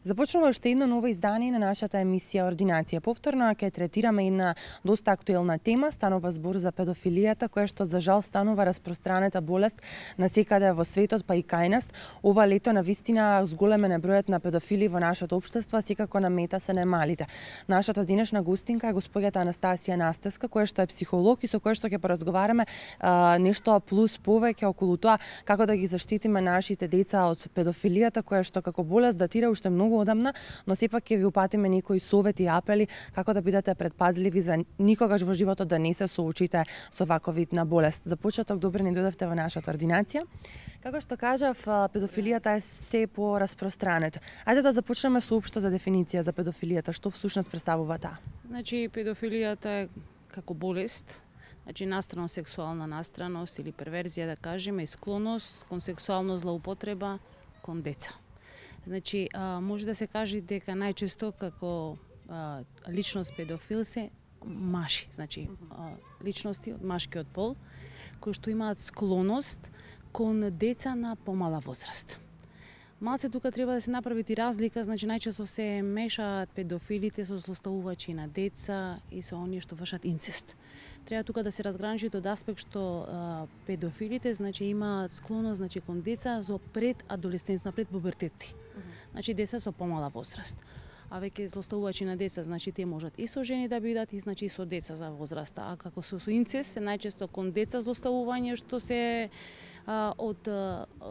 Започнува уште едно ново издание на нашата емисија Ординација. Повторно ќе третираме една доста актуелна тема, станува збор за педофилијата, која што за жал станува распространета болест насекаде во светот, па и кај нас. Ова лето навистина зголемен е бројот на педофили во нашето општество, секако на мета се најмалите. Нашата денешна гостинка е госпоѓата Анастасија Настеска, која што е психолог и со која што ќе поразговараме нешто плюс повеќе околу тоа како да ги заштитиме нашите деца од педофилијата, која што како болест датира уште многу одамна, но сепак ќе ви упатиме некои совети и апели како да бидете предпазливи за никогаш во животот да не се соочите со ваков вид на болест. За почеток, добре ни дојдовте во нашата ординација. Како што кажав, педофилијата е се пораспространета. Ајде да започнеме со општата дефиниција за педофилијата. Што всушност представува таа? Значи, педофилијата е како болест, значи настрано сексуална настраност или перверзија, да кажеме, и склоност кон сексуална злоупотреба кон деца. Значи, може да се каже дека најчесто како личност педофил се маши, значи личности од машкиот пол, кои што имаат склоност кон деца на помала возраст. Малце тука треба да се направи и разлика, значи најчесто се мешаат педофилите со злоставувачи на деца и со оние што вршат инцест. Треба тука да се разграничи од аспект што педофилите значи имаат склоност значи кон деца за предадолесцентна, предпубертет. Значи деца со помала возраст. А веќе злоставувачи на деца, значи тие можат и со жени да бидат и значи со деца за возраста, а како со инцест се најчесто кон деца злоставување што се од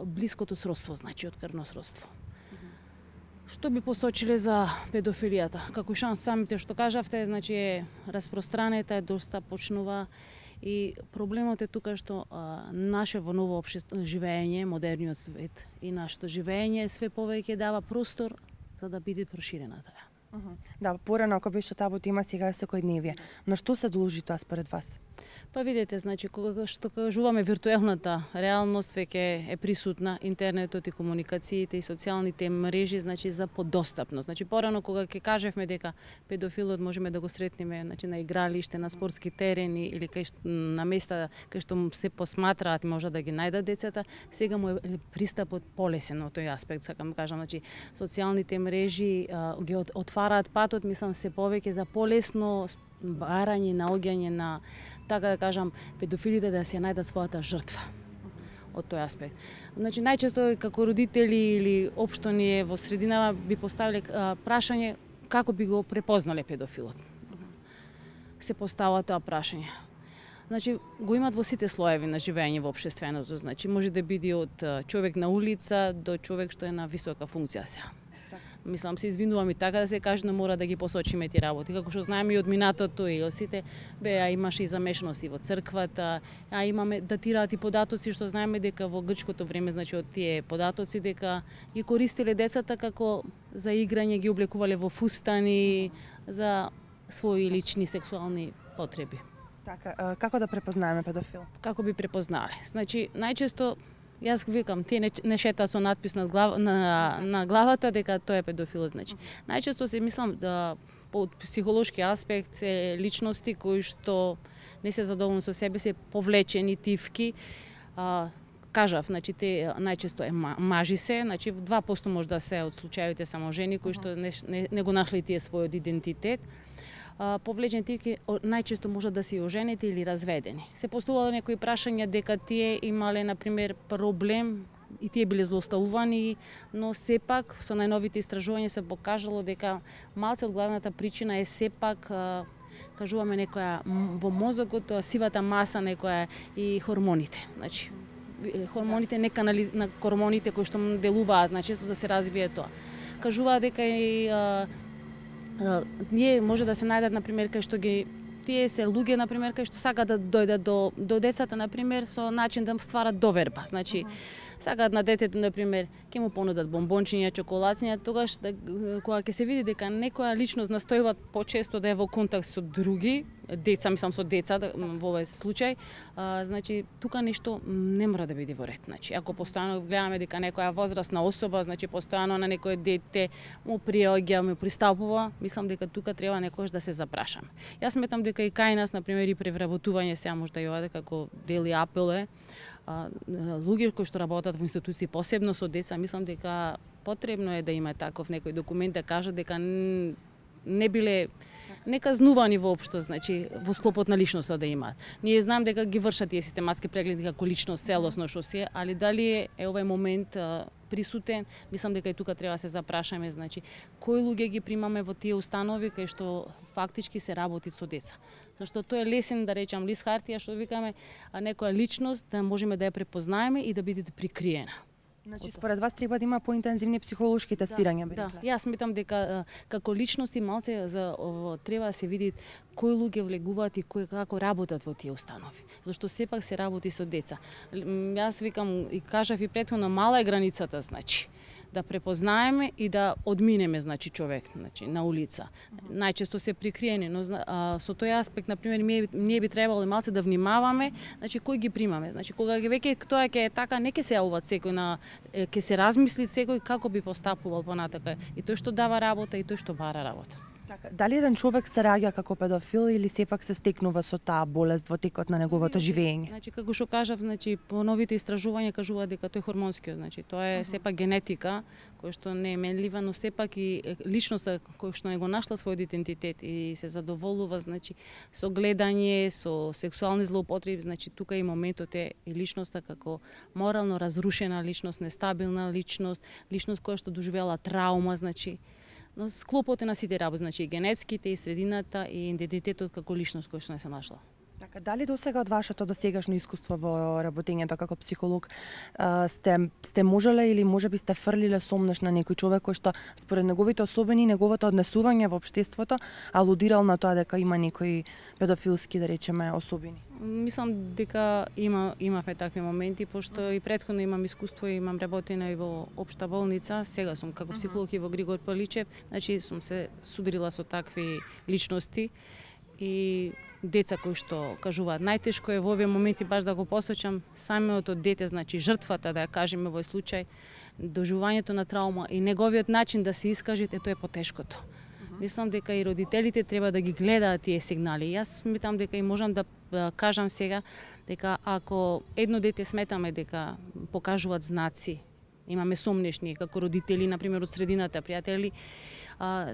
блиското сродство, значи од крвно сродство. Што би посочиле за педофилијата? Како и шанс самите што кажавте, значи е распространета, е доста почнува и проблемот е тука што наше во ново општество живење, модерниот свет и нашето живење све повеќе дава простор за да биде проширена таа. Да, порано ако беше табу тема, сега е секојдневие. На што се должи тоа според вас? Па видете, значи кога што кажуваме виртуелната реалност веќе е присутна, интернетот и комуникациите и социјалните мрежи, значи за подостапност. Значи порано кога ќе кажевме дека педофилот можеме да го сретнеме значи на игралиште, на спортски терени или на места кај што се посматраат и може да ги најдат децата, сега му е пристапот полесен во тој аспект, сакам да кажам, значи социјалните мрежи ги отвараат патот, мислам се повеќе за полесно барање, наоѓање на, така да кажам, педофилите да се најдат својата жртва од тој аспект. Значи, најчесто како родители или општо ние во срединава би поставиле прашање како би го препознале педофилот. Се постава тоа прашање. Значи, го имат во сите слоеви на живење во општественото, значи може да биде од човек на улица до човек што е на висока функција сега. Мислам се извинувам и така да се каже, но мора да ги посочиме ти работи. Како што знаеме и од минатото и од сите, имаше и замешаност и во црквата, имаме датираат и податоци што знаеме дека во грчкото време, значи од тие податоци дека ги користеле децата како за играње, ги облекувале во фустани за своји лични сексуални потреби. Така, како да препознаеме педофил? Како би препознале? Значи, најчесто јас викам, тие не шета со надпис на главата дека тој е педофил, значи. Најчесто се мислам да од психолошки аспект се личности кои што не се задоволни со себе, се повлечени, тивки. Кажав, значи те најчесто е мажи се, значи 2% може да се од случаевите само жени кои што не го нашли тие својот идентитет. Повлечени тивки најчесто можат да се и оженети или разведени. Се поставувало некои прашања дека тие имале, например, проблем и тие биле злоставувани, но сепак со најновите истражувања се покажало дека малце од главната причина е сепак кажуваме некоја во мозокот, сивата маса некоја и хормоните. Значи хормоните на хормоните кои што делуваат, значи да се развие тоа. Кажуваат дека и ние може да се најдат, например, кај што ги тие се луѓе на пример кои што сакаат да дојдат до децата на пример со начин да стварат доверба. Значи сакаат на детето на пример ќе му понудат бомбончиња, чоколација, тогаш кога ќе се види дека некоја личност настојува почесто да е во контакт со други деца, мислам со деца во овој случај, значи тука нешто не мора да биде во ред. Значи ако постојано гледаме дека некоја возрастна особа, значи постојано на некое дете му приоѓа, му пристапува, мислам дека тука треба некогаш да се запрашаме. Јас сметам дека и кај нас на пример и превработување сега можда и ова како дели апел е, луѓе кои што работат во институции посебно со деца, мислам дека потребно е да има таков некој документ да кажат дека не биле неказнувани воопшто, значи во склопот на личноста да имаат. Ние знаем дека ги вршат тие систематски прегледи како личност целосно што се, али дали е овој момент присутен, мислам дека и тука треба да се запрашаме, значи кои луѓе ги примаме во тие установи кај што фактички се работи со деца. Зашто тоа е лесен да речам лист хартија што викаме некоја личност да можеме да ја препознаеме и да биде прикриена. Значи според вас треба да има поинтензивни психолошки тестирања, да. Јас сметам дека како личности малце треба да се види кои луѓе влегуваат и како работат во тие установи. Зашто сепак се работи со деца. Јас викам и кажав и претходно, мала е границата, значи да препознаеме и да одминеме, значи човек, значи на улица. Најчесто се прикриени, но со тој аспект на пример ние би требало и малце да внимаваме, значи кој ги примаме. Значи кога ги веќе тоа ќе е така, не ќе се јавуваат секој на ќе се размисли секој како би постапувал понатака и тој што дава работа и тој што бара работа. Така, дали еден човек се раѓа како педофил или сепак се стекнува со таа болест во текот на неговото живење? Значи како што кажав, значи по новите истражувања кажуваат дека тој е хормонски, значи тоа е сепак генетика која што не е менлива, но сепак и личноста која што не го нашла својот идентитет и се задоволува, значи со гледање, со сексуални злоупотреби, значи тука и моментот е и личноста како морално разрушена личност, нестабилна личност, личност која што доживела траума, значи но склопот е на сите работи, значи и генетските, и средината, и идентитетот како личност кој што не се нашла. Така, дали досега од вашето досегашно искуство во работењето како психолог сте можеле или можеби сте фрлиле сомнеш на некој човек кој што според неговите особени, неговото однесување во општеството алудирал на тоа дека има некои педофилски, да речеме, особини? Мислам дека имавме такви моменти, пошто и претходно имам искуство, имам работено и во општа болница, сега сум како психолог и во Григор Паличев, значи сум се судрила со такви личности и деца кои што кажуваат најтешко е во овие моменти баш да го посочам самиот дете, значи жртвата, да ја кажеме во случај, доживувањето на траума и неговиот начин да се искаже, тоа е потешкото. Мислам дека и родителите треба да ги гледаат тие сигнали. Јас сметам дека и можам да кажам сега дека ако едно дете сметаме дека покажуваат знаци, имаме сомнешни како родители, на пример од средината, пријатели,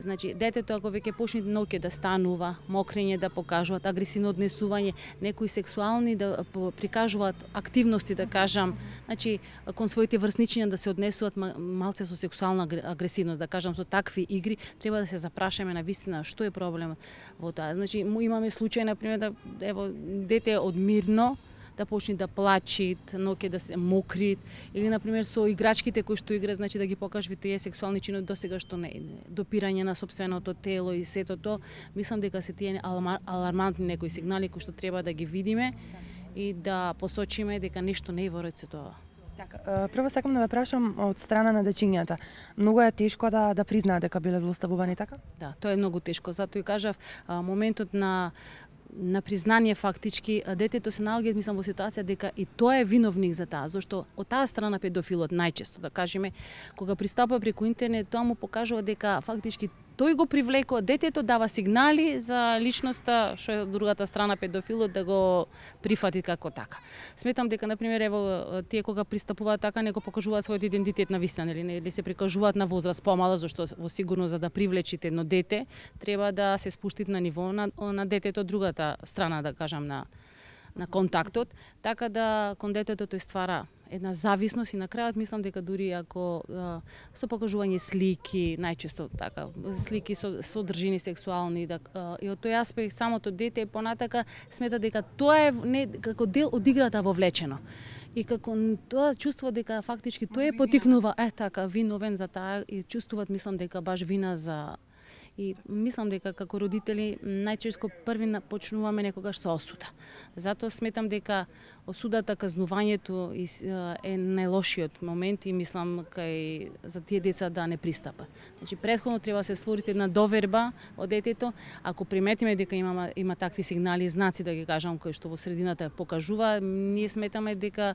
значи детето ако веќе почне ноќе да станува, мокрење да покажуваат, агресивно однесување, некои сексуални да прикажуваат активности, да кажам, значи кон своите врсничиња да се однесуваат малце со сексуална агресивност, да кажам со такви игри, треба да се запрашаме на вистина што е проблемот во тоа. Значи имаме случај на пример да ево дете одмирно да почне да плачи, ноќе да се мокри, или на пример со играчките кои што игра, значи да ги покажи тие сексуални чинови досега што не, допирање на сопственото тело и сето тоа. Мислам дека се тие алармантни некои сигнали кои што треба да ги видиме и да посочиме дека нешто не е во ред со тоа. Така, прво сакам да ве прашам од страна на дечињата. Многу е тешко да признаат дека биле злоставувани, така? Да, тоа е многу тешко. Затоа и кажав, моментот на признание фактички, детето се наоѓа, мислам, во ситуација дека и тоа е виновник за таа, зашто од таа страна педофилот најчесто, да кажеме, кога пристапува преку интернет, тоа му покажува дека фактички тој го привлекува, детето дава сигнали за личноста, што е од другата страна педофилот да го прифати како така. Сметам дека на пример ево тие кога пристапуваат така не го покажуваат својот идентитет на вистина, или се прикажуваат на возраст помала, зашто во сигурно за да привлечите едно дете треба да се спуштите на ниво на детето од другата страна, да кажам, на контактот, така да кон детето тој ствара една зависност и на крајот мислам дека дури ако со покажување слики, најчесто така, слики со содржини сексуални, и од тој аспект самото дете понатака смета дека тоа е не како дел од играта вовлечено. И како тоа чувствува дека фактички тој е потикнува, така, виновен за таа и чувствуваат, мислам дека баш вина за И мислам дека како родители најчесто први почнуваме некогаш со осуда. Затоа сметам дека осудата, казнувањето е најлошиот момент и мислам кај за тие деца да не пристапат. Значи претходно треба да се створи една доверба од детето. Ако приметиме дека има такви сигнали и знаци, да ги кажам, кои што во средината покажува, ние сметаме дека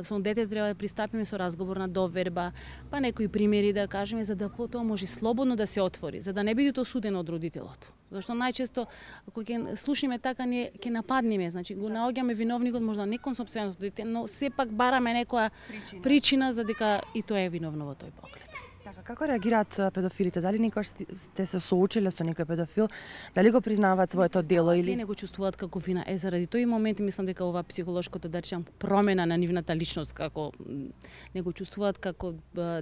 со детето треба да пристапиме со разговорна доверба, па некои примери да кажеме, за да потоа може слободно да се отвори, за да не биде осудено од родителот. Зашто најчесто кога ќе слушнеме така ние ќе нападнеме, значи го наоѓаме виновникот можда не кон сопственото дете, но сепак бараме некоја причина за дека и тоа е виновно во тој поглед. Така, како реагираат педофилите? Дали никош сте се соочиле со некој педофил? Дали го признаваат своето дело или не го чувствуваат како вина? Заради тој момент мислам дека ова психолошкото да речам промена на нивната личност, како не го чувствуваат како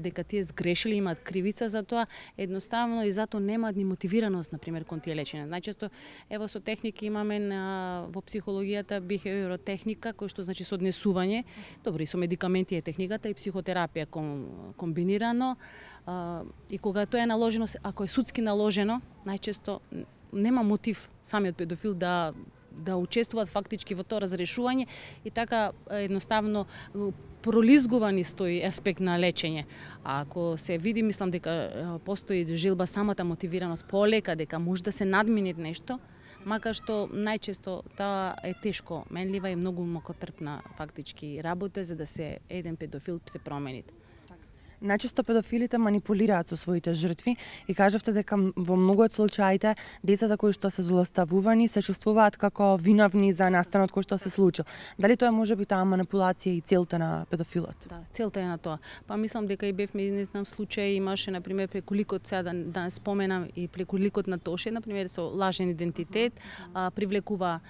дека тие сгрешили, имаат кривица за тоа, едноставно и затоа немаат ни мотивираност на пример кон тие лечење. Најчесто ево со техники имаме во психологијата бихевиоротехника, кој што значи со однесување, добро и со медикаменти е техниката и психотерапија комбинирано. И кога тоа е наложено, ако е судски наложено, најчесто нема мотив самиот педофил да учествуваат фактички во тоа разрешување и така едноставно пролизгува низ тој аспект на лечење. А ако се види, мислам дека постои желба самата мотивираност полека, дека може да се надмине нешто, макар што најчесто таа е тешко менлива и многу мокотрпна фактички работа за да се еден педофил се промени. Најчесто педофилите манипулираат со своите жртви и кажавте дека во многу од случаите децата кои што се злоставувани се чувствуваат како виновни за настанот кој што се случил. Дали тоа може би таа манипулација и целта на педофилот? Да, целта е на тоа. Па мислам дека и бевме, не знам, случаи имаше на пример преку ликот, сега да споменам и преку ликот на Тоше, на пример со лажен идентитет, привлекува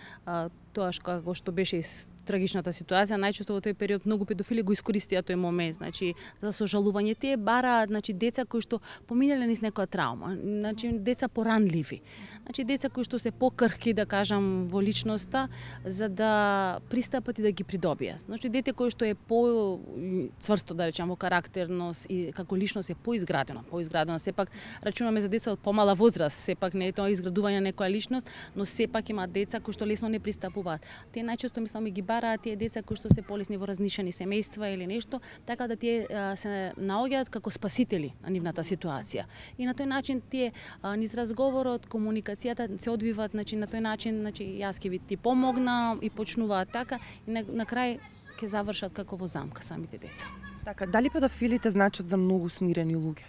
тоа што беше трагичната ситуација, најчесто во тој период многу педофили го искористија тој момент, значи за сожалување тие бараат, значи деца кои што поминале низ некоја травма, значи деца поранливи. Значи деца кои што се покрхки, да кажам, во личноста за да пристапат и да ги придобијат. Значи дете кој што е по-цврсто, да речам, во карактерност и како личност е поизградено, сепак рачунаме за деца од помала возраст, сепак не е тоа изградување на некоја личност, но сепак има деца кои што лесно не пристапуваат. Тие најчесто мислам ги бараат тие деца кои што се полесни во разнишени семејства или нешто, така да тие се наоѓаат како спасители на нивната ситуација. И на тој начин тие низ разговорот, комуникацијата се одвиваат, значи на тој начин, значи јас ќе ви ти помогна и почнуваат така и на крај ќе завршат како во замка самите деца. Така, дали педофилите значат за многу смирени луѓе?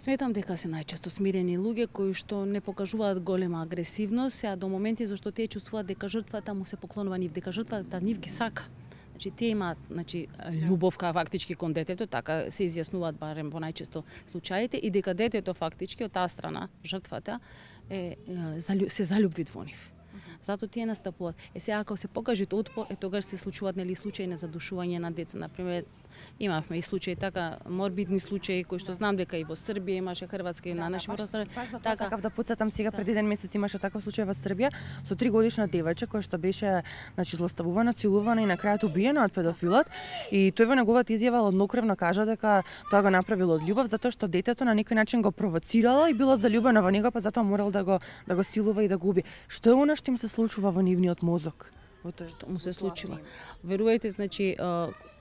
Сметам дека се најчесто смирени луѓе кои што не покажуваат голема агресивност, а до моменти зашто тие чувствуваат дека жртвата му се поклонува нив, дека жртвата нив ги сака. Значи тие имаат, значи љубов фактички кон детето, така се изјаснуваат барем во најчесто случаите и дека детето фактички од таа страна, жртвата се заљубви во нив. Затоа тие настапуваат. Сега ако се покаже отпор, тогаш се случуваат нели случаи на задушување на деца, на пример имавме и случаи така морбидни случаи кои што знам дека и во Србија имаше, Хрватска и на нашиот простор. Така сакав да потсетам сега пред еден месец имаше таков случај во Србија со 3-годишна девојче која што беше значи злоставувана, целувана и на крајот убиена од педофилот и тој во неговата изјава однокрвно кажа дека тоа го направил од љубов затоа што детето на некој начин го провоцирало и било заљубено во него, па затоа морал да го силува и да го уби. Што е она што им се случува во нивниот мозок? Во тоа што му се случува. Верувајте, значи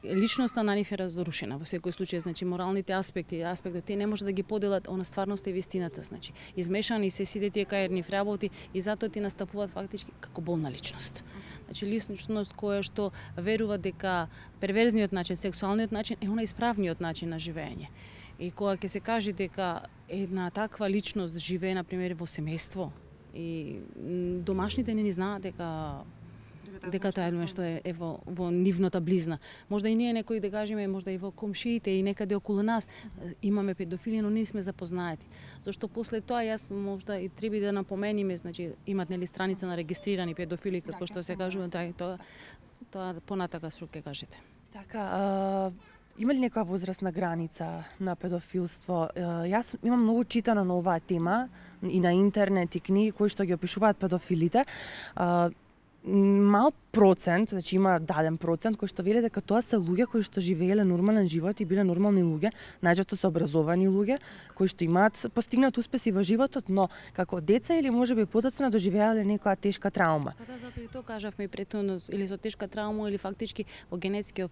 личноста на нив е разрушена во секој случај, значи моралните аспекти тие не може да ги поделат она стварноста и вистината, значи измешани се сите тие кај нив работи и затоа ти настапуваат фактички како болна личност. Значи личност која што верува дека перверзниот начин, сексуалниот начин е она исправниот начин на живење. И кога ќе се каже дека една таква личност живее на пример во семејство и домашните не ни знаат дека тоа е нешто е во нивната близна. Можда и ние некои да кажеме, можда и во комшиите и некаде околу нас имаме педофили, но не сме запознаати. Зашто после тоа јас можда и треба да напомениме, значи имат нели страница на регистрирани педофили како што се кажува, тоа понатака што ќе кажете. Така, има ли некоја возрастна граница на педофилство? Јас имам многу читано на оваа тема и на интернет и книги кои што ги опишуваат педофилите. Мал процент, значи има даден процент кој што вели дека тоа се луѓе кои што живееле нормален живот и биле нормални луѓе, најчесто се образовани луѓе кои што имаат постигнат успеси во животот, но како деца или можеби подоцна доживеале некоја тешка травма. Па да, затоа и тоа кажавме и претhodно, или со тешка травма или фактички во генетскиот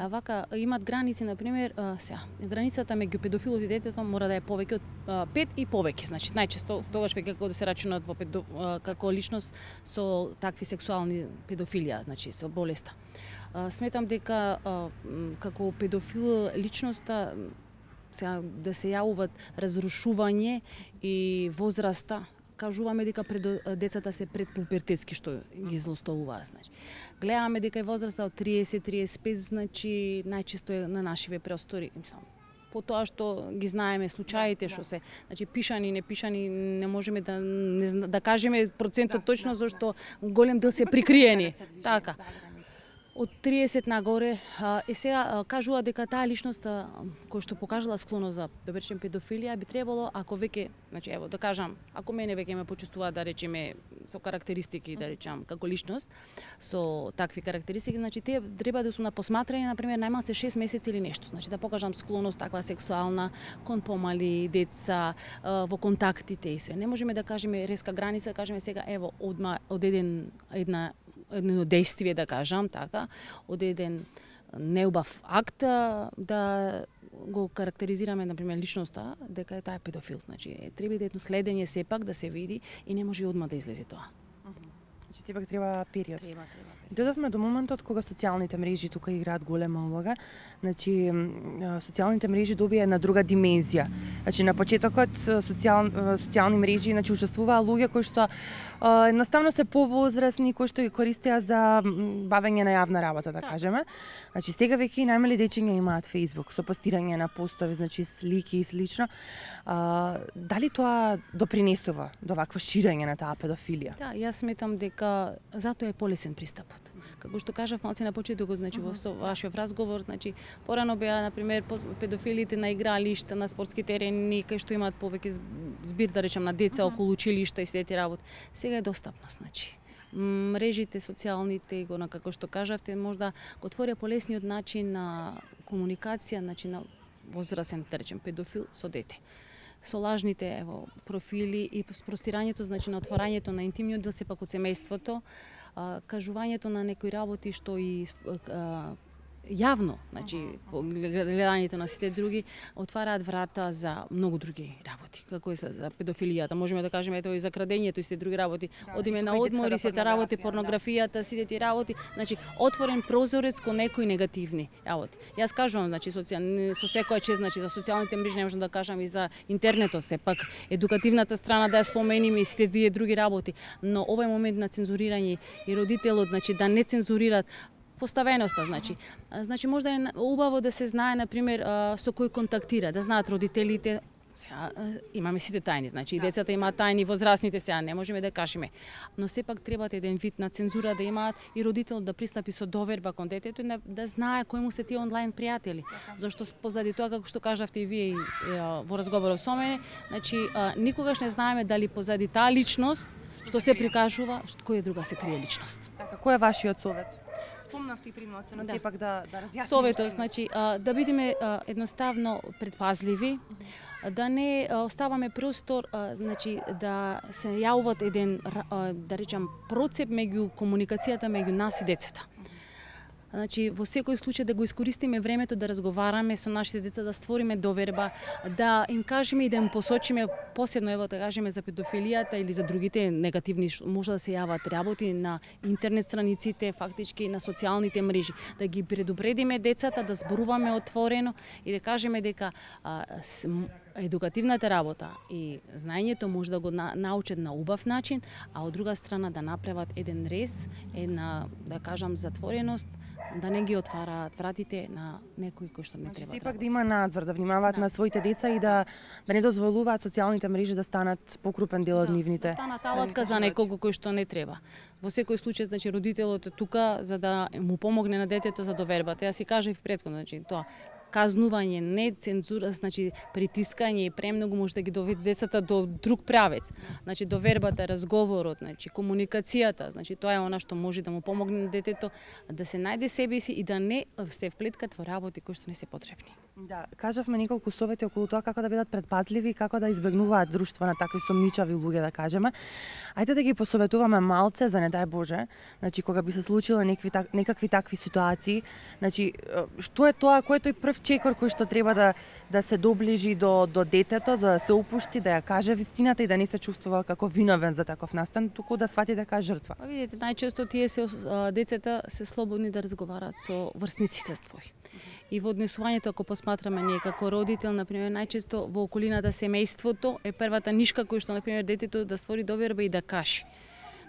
вака имаат граници, на пример, границата меѓу педофилот и детето мора да е повеќе од 5 и повеќе, значи најчесто тогаш веќе кога се рачунат во како личност со такви сексуални педофили, значи со болеста. Сметам дека како педофил личноста сега да се јавуваат разрушување и возраста, кажуваме дека децата се предпуперtetски што ги злоставуваат, значи. Гледаме дека е возраста од 30-35, значи најчесто е на нашиве простори, мислам. По тоа што ги знаеме случаите што се, значи пишани, не пишани, не можеме да кажеме процентот точно зашто голем дел се прикриени. Така. Од 30 нагоре, сега кажува дека таа личност која што покажала склоност за да речем педофилија би требало ако веќе, значи ево да кажам, ако мене веќе ме почувствува да речеме со карактеристики да речам како личност со такви карактеристики, значи тие треба да су на посматрање на пример најмалце 6 месеци или нешто, значи да покажам склоност таква сексуална кон помали деца во контактите и се. Не можеме да кажеме резка граница, кажеме сега ево од едно действие да кажам така, од еден неубав акт да го карактеризираме на пример личноста дека е таа педофил, значи треба да едно следење сепак да се види и не може одма да излезе тоа. Значи сепак треба период. Треба. Додовме до моментот кога социјалните мрежи тука играат голема улога. Значи социјалните мрежи добија една друга димензија. Значи на почетокот социјални мрежи значи учествуваа луѓе кои што едноставно се повозрасни, кои што ги користеа за бавење на јавна работа, да кажеме. Значи сега веќе и најмали дечиња имаат Facebook со постирање на постови, значи слики и слично. Дали тоа допринесува до вакво ширење на таа педофилија? Да, јас сметам дека затоа е полесен пристапот. Како што кажав малце на почетокот, значи во вашиот разговор, значи порано беа на пример педофилите на игралишта, на спортски терени, кај што имаат повеќе збир да речам на деца околу училишта и сите тие работи. Сега е достапно, значи. Мрежите социјалните, го на како што кажавте, можда го отворија полесниот начин на комуникација, значи на возрасен, да речем, педофил со дете. Со лажните профили и простирањето, значи на отворањето на интимниот дел сепак од семејството, кажувањето на некои работи што и јавно, значи гледањето на сите други отвараат врата за многу други работи, како е за педофилијата. Можеме да кажеме ето и за крадењето и сите други работи. Одиме на одмори, сите работи, порнографијата, сите тие работи, значи отворен прозорец кон некои негативни работи. Јас кажувам, значи со секоја чест, значи за социјалните мрежи не можам да кажам и за интернетот, сепак едукативната страна да ја спомениме и сите тие други работи, но овој момент на цензурирање и родителот, значи да не цензурираат поставеноста, значи можда е убаво да се знае на пример со кој контактира, да знаат родителите. Сега имаме сите тајни, значи и децата имаат тајни, возрастните сега не можеме да кажеме, но сепак треба еден вид на цензура да имаат и родителот да пристапи со доверба кон детето и да знае кои му се тие онлайн пријатели. Зашто позади тоа како што кажавте и вие во разговорот со мене, значи никогаш не знаеме дали позади таа личност што се прикажува, која друга се крие личност. Така, кој е вашиот совет? Спомнавте и примоци, но сепак да разјаснеме. Советот, значи, да бидеме едноставно предпазливи, да не оставаме простор, значи, да се јавуваат еден, да речам, процеп меѓу комуникацијата меѓу нас и децата. Значи, во секој случај да го искористиме времето да разговараме со нашите деца, да створиме доверба, да им кажеме и да им посочиме, посебно ево да кажеме за педофилијата или за другите негативни, може да се јават работи на интернет страниците, фактички на социјалните мрежи, да ги предупредиме децата, да зборуваме отворено и да кажеме дека едукативната работа и знаењето може да го научат на убав начин, а од друга страна да направат еден рез, една, да кажам, затвореност, да не ги отвараат вратите на некои кои што не треба. Сепак да има надзор, да внимаваат на своите деца и да не дозволуваат социјалните мрежи да станат покрупен дел од нивните. Да станат алатка за некого кој што не треба. Во секој случај, значи родителот е тука за да му помогне на детето за довербата. Јас си кажав претходно, значи тоа казнување, не цензура, значи притискање и премногу може да ги доведе децата до друг правец. Значи до вербата, разговорот, значи комуникацијата, значи тоа е она што може да му помогне на детето да се најде себе си и да не се вплеткат во работи кои што не се потребни. Да, кажавме неколку совети околу тоа како да бидат предпазливи и како да избегнуваат друштво на такви сомничави луѓе, да кажеме. Ајде да ги посоветуваме малце за не дај Боже, значи кога би се случило некакви такви ситуации, значи што е тоа, кој е тој прв чекор кој што треба да се доближи до детето, за да се опушти, да ја каже вистината и да не се чувствува како виновен за таков настан, туку да свати дека е жртва. Видите, најчесто тие децата се слободни да разговараат со врсниците своји. И во однесувањето, ако посматраме ние како родител, например, најчесто во околината семејството е првата нишка кој што, например, детето да створи доверба и да каже.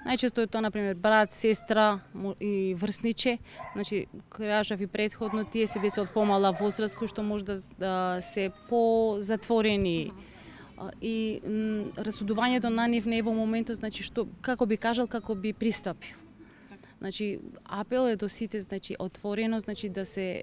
Најчесто е тоа, например, брат, сестра и врсниче. Значи, кажав и претходно, тие се деца од помала возраст кои што може да се позатворени. И расудувањето на нив не е во моментот, значи, што, како би кажал, како би пристапил. Значи, апел е до сите, значи, отворено, значи, да се,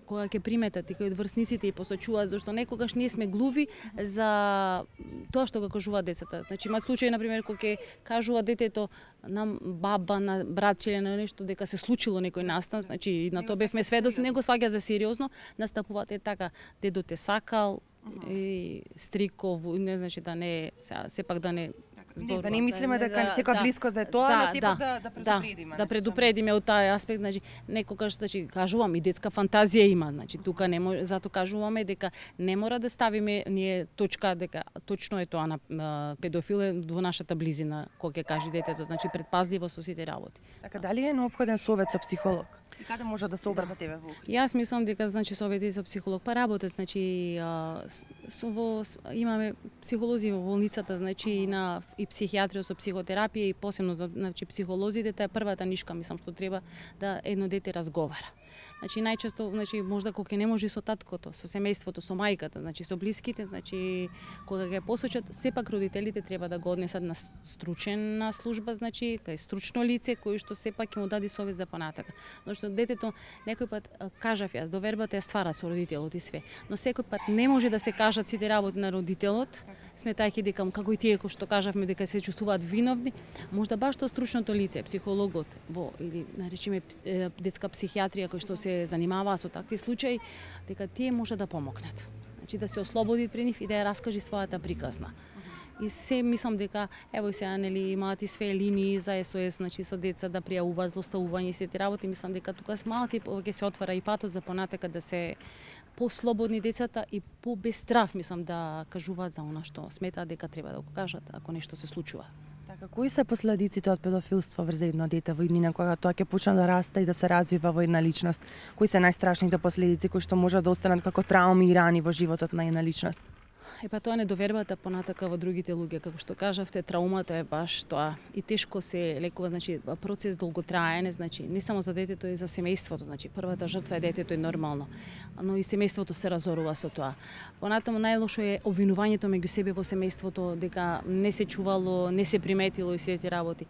кога ќе приметат и кои од врсниците и посочуваат, зашто некогаш ние сме глуви за тоа што го кажуваат децата. Значи, има случаи, например, кога ќе кажува детето на баба, на братче или на нешто, дека се случило некој настан, значи, на тоа бевме сведоци, не го сваќа за сериозно, настапуваат така, дедо те сакал, и стриков, не значи да не, сепак да не Да не мислиме дека секоја близко за тоа, но сепак да предупредиме. Да предупредиме од тај аспект, значи некогаш, значи кажувам и детска фантазија има, значи тука не може, затоа кажуваме дека не мора да ставиме ние точка дека точно е тоа на педофил е во нашата близина, кога ќе каже детето, значи предпазливо со сите работи. Така, дали е неопходен совет со психолог? И каде може да се обрати тебе во Охрид? Јас мислам дека, значи, совети со психолог па работа, значи имаме психолози во болницата, значи и психијатрија со психотерапија и посебно за, значи, психолозите, таа е првата нишка, мислам, што треба да едно дете разговара. Значи најчесто, значи можда кога не може со таткото, со семејството, со мајката, значи со блиските, значи кога ќе посочат, сепак родителите треба да го однесат на стручена служба, значи кај стручно лице кој што сепак ќе му даде совет за понатака. Но што детето некој пат кажав јас, довербата ја ствара со родителот и све, но секој пат не може да се кажат сите работи на родителот, сметајќи дека како и тие кои што кажавме дека се чувствуваат виновни, можда баш тоа стручното лице, психологот или наречеме детска психијатрија кој што се занимаваа со такви случаи, дека тие може да помогнат. Значи да се ослободи при нив и да ја раскажи својата приказна. И се мислам дека ево сега нели имаат и све линии за СОС, значи со деца да пријавуваат злоставување и сите работи, мислам дека тука малци ќе се отвара и патот за понатака да се послободни децата и по без страв, мислам, да кажуваат за она што сметаат дека треба да го кажат ако нешто се случува. Така, кои се последиците од педофилство врз едно дете во иднина кога тоа ќе почне да расте и да се развива во една личност? Кои се најстрашните последици кои што можат да останат како трауми и рани во животот на една личност? Па тоа недовербата понатака во другите луѓе, како што кажавте, траумата е баш тоа и тешко се лекува, значи процес долготраен, значи не само за детето и за семејството, значи првата жртва е детето е нормално, но и семејството се разорува со тоа. Понатаму најлошо е обвинувањето меѓу себе во семејството дека не се чувало, не се приметило и сите работи.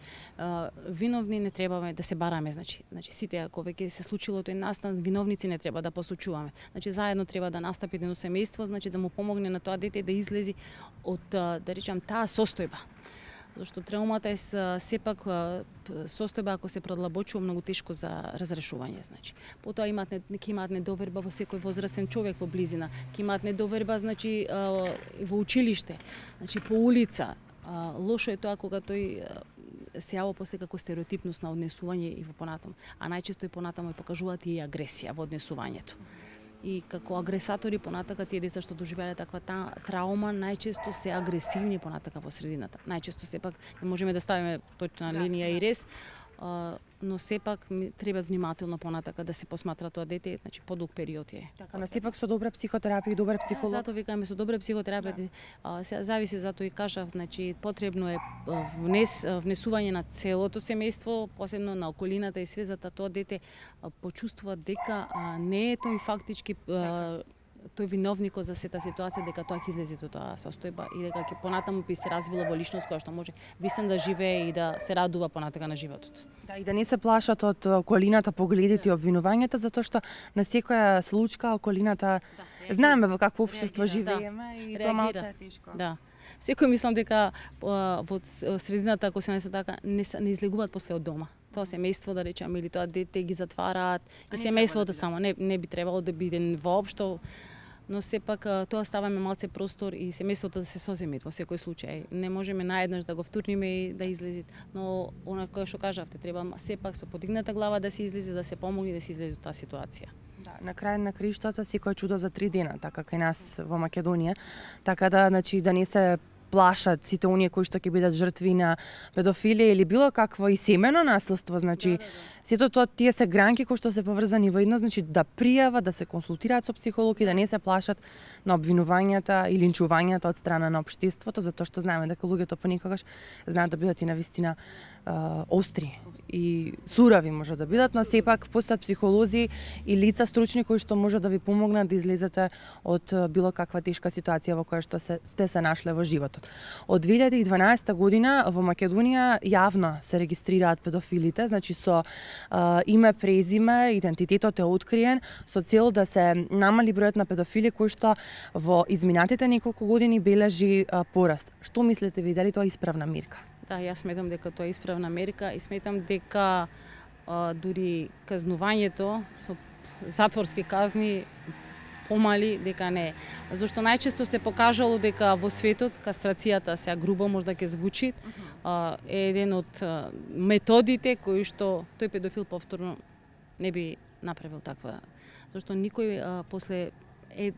Виновни не требаме да се бараме, значи сите ако веќе се случило тој настан, виновници не треба да посочуваме. Значи заедно треба да настапи едно семејство, значи да му помогне на тоа дете да излези од, да речам, таа состојба. Зашто траумата е сепак состојба ако се продлабочува многу тешко за разрешување, значи. Потоа ќе имаат недоверба во секој возрастен човек во близина, ќе имаат недоверба, значи, во училиште, значи по улица. Лошо е тоа кога тој се јава после како стереотипност на однесување и во понатаму, а најчесто и понатаму покажуваат и агресија во однесувањето. И како агресатори понатака тие деца што доживеале таква траума најчесто се агресивни понатака во средината. Најчесто сепак не можеме да ставиме точна линија и рез, но сепак треба внимателно понатака да се посматра тоа дете, значи подолг период е. Така, но сепак со добра психотерапија и добар психолог. Затоа викаме со добра психотерапија, се зависи, затоа и кажав, значи потребно е внесување на целото семејство, посебно на околината и све, за тоа дете почувствува дека не е тој фактички тој виновникот за сета ситуација дека тоа ќе излезе од тоа состојба и дека ќе понатаму би се развила во личност која што може вистина да живее и да се радува понатака на животот. Да, и да не се плашат од околината погледите и обвинувањата, затоа што на секоја случка околината знаеме во какво општество живееме и тоа малку е тешко. Да. Секој мислам дека во средината, ако се несо така, не излегуваат после од дома. Тоа семејство, да речеме, или тоа дете ги затвараат, и семејството само, не би требало да биде воопшто, но сепак тоа ставаме малце простор и семејството да се соземет во секој случај. Не можеме наеднаш да го втурниме и да излезе, но она кое што кажавте, треба сепак со подигната глава да се излезе, да се помогне да се излезе од таа ситуација. Да, на крај на криштата секој чудо за 3 дена, така кај нас во Македонија, така да, значи, да не се плашат сите оние кои што ќе бидат жртви на педофилија или било какво и семено наследство, значи сето тоа тие се гранки кои што се поврзани во едно, значи да пријават, да се консултираат со психолог и да не се плашат на обвинувањата и линчувањата од страна на општеството, затоа што знаеме дека луѓето понекогаш знаат да бидат и навистина остри и сурави може да бидат, но сепак постојат психолози и лица стручни кои што може да ви помогнат да излезете од било каква тешка ситуација во која што сте се нашле во животот. Од 2012 година во Македонија јавно се регистрираат педофилите, значи со име, презиме, идентитетот е откриен со цел да се намали бројот на педофили кои што во изминатите неколку години бележи пораст. Што мислите ви, дали тоа е исправна мерка? Да, јас сметам дека тоа е исправна мерка и сметам дека дури казнувањето со затворски казни помали дека не. Зашто најчесто се покажало дека во светот кастрацијата сега грубо може да ќе звучи е еден од методите кои што тој педофил повторно не би направил таква. Зашто никој после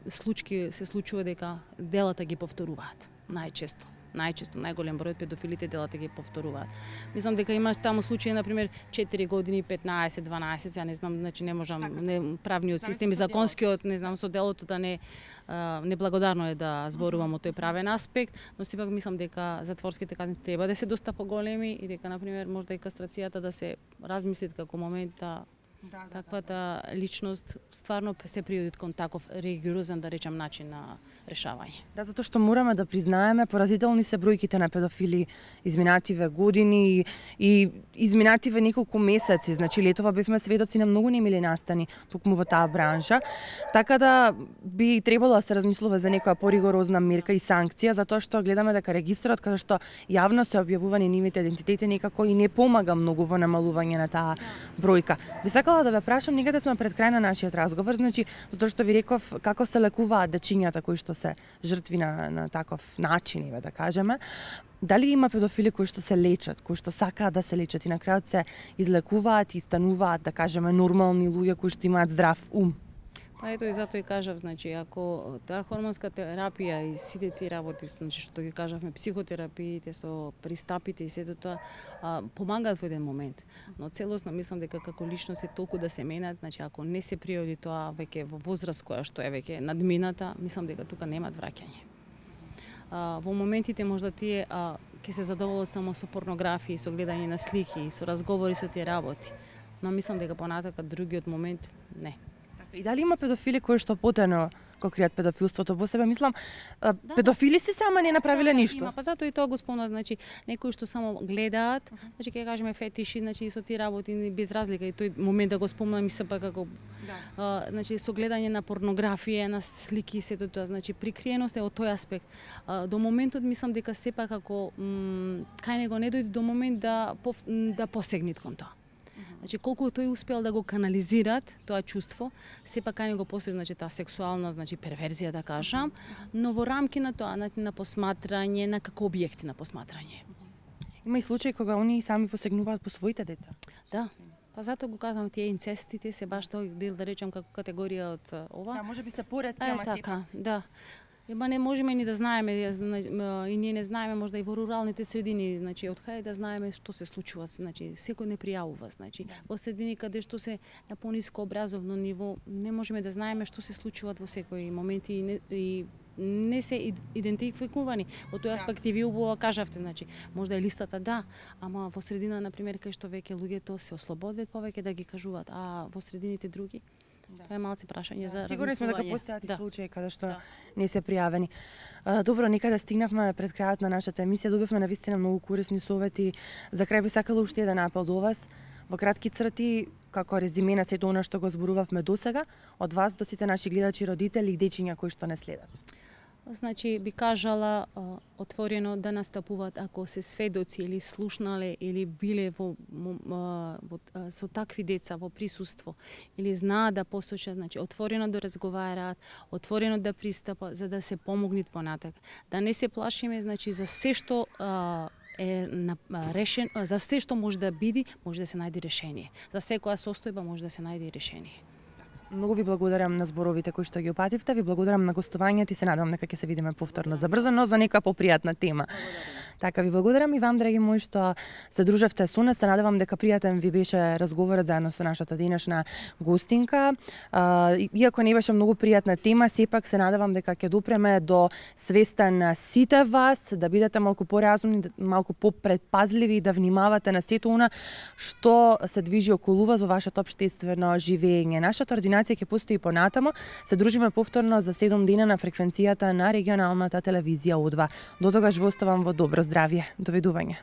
случаи се случува дека делата ги повторуваат најчесто. Најголем број од педофилите делата ги повторуваат. Мислам дека има таму случаи, например, 4 години, 15, 12, ја не знам, значи не можам, правниот систем и законскиот, не знам, со делото да неблагодарно е да зборувам о тој правен аспект, но сепак мислам дека затворските казни треба да се доста поголеми и дека, например, можда и кастрацијата да се размисли како момент да таквата личност стварно се приоди кон таков ригорозен, да речам, начин на решавање. Да, затоа што мораме да признаеме, поразителни се бројките на педофили изминативе години и изминативе неколку месеци. Значи летова бевме сведоци на многу немили настани токму во таа бранша. Така да би требало да се размислува за некоја поригорозна мерка и санкција, затоа што гледаме дека регистрот каде што јавно се објавувани нивните идентитети некако и не помага многу во намалување на таа бројка. Би сакала да ве прашам, некаде сме пред крај на нашиот разговор, значи затоа што ви реков како се лекуваат дечињата кои што се жртви на таков начин, да кажеме. Дали има педофили кои што се лечат, кои што сакаат да се лечат и на крајот се излекуваат и стануваат, да кажеме, нормални луѓе кои што имаат здрав ум? Па ето и затоа и кажав, значи, ако таа хормонска терапија и сите тие работи, значи што ги кажавме, психотерапиите со пристапите и сето тоа помагаат во еден момент. Но целосно мислам дека како личност е толку да се менат, значи ако не се приоди тоа веќе во возраст која што е веќе надмината, мислам дека тука немаат враќање. Во моментите можда тие ќе се задоволат само со порнографија, со гледање на слики, со разговори со тие работи. Но мислам дека понатака другиот момент не. И дали има педофили кои што потајно го кријат педофилството во себе? Мислам, педофили си сама не направиле ништо. Има, па затоа и тоа го спомнав, значи некои што само гледаат, значи ќе кажеме фетиши, значи со тие работи без разлика и тој момент да го спомнам и сепак како значи со гледање на порнографија, на слики и сето тоа, значи прикриеност е од тој аспект. До моментот мислам дека сепак ако кај него не дојде до момент да посегнат кон тоа. Значи колку тој успел да го канализират тоа чувство, сепак кај него постои, значи таа сексуална, значи перверзија да кажам, но во рамки на тоа на посматрање, на како објекти на посматрање. Има и случаи кога они сами посегнуваат по своите деца. Да. Па затоа го кажам, тие инцестите се баш тој дел, да речам, како категорија од ова. Да, може би се поретки, ама така, да. Ема не можеме ни да знаеме, и ние не знаеме можда и во руралните средини, значи од каде да знаеме што се случува, значи секој не пријавува, значи во средини каде што се на пониско образовно ниво, не можеме да знаеме што се случуваат во секој момент и не се идентификувани. Во тој аспект и ви убаво кажавте, значи можда е листата да, ама во средина на пример кај што веќе луѓето се ослободуваат повеќе да ги кажуваат, а во средините други Тоа е малце прашање за размислување. Сигурни сме дека постојат и случаи каде што не се пријавени. Добро, некаде стигнавме пред крајот на нашата емисија, добивме навистина многу корисни совети. За крај би сакала уште еден апел до вас. Во кратки црти, како резиме на сето она што го зборувавме досега, од вас до сите наши гледачи, родители и дечиња кои што не следат. Значи, би кажала отворено да настапуваат ако се сведоци или слушнале или биле со такви деца во присуство или знаат да посочат, значи отворено да разговараат, отворено да пристапат за да се помогнат понатака. Да не се плашиме, значи за се што решен, за се што може да биде, може да се најде решение. За секоја состојба може да се најде решение. Многу ви благодарам на зборовите кои што ги опативте, ви благодарам на гостувањето и се надевам дека ќе се видиме повторно забрзо, но за нека попријатна тема. Така, ви благодарам и вам, драги мои, што се дружевте со нас. Се надевам дека пријатен ви беше разговорот заедно со нашата денешна гостинка. Иако не беше многу пријатна тема, сепак се надевам дека ќе допреме до свеста на сите вас, да бидете малку поразумни, малку попредпазливи и да внимавате на сето она што се движи околу вас во вашето општествено живење. Нашата ординација ќе постои понатамо. Се дружиме повторно за 7 дена на фреквенцијата на регионалната телевизија Удва. До тогаш ви оставам во добро здравје. Довидување.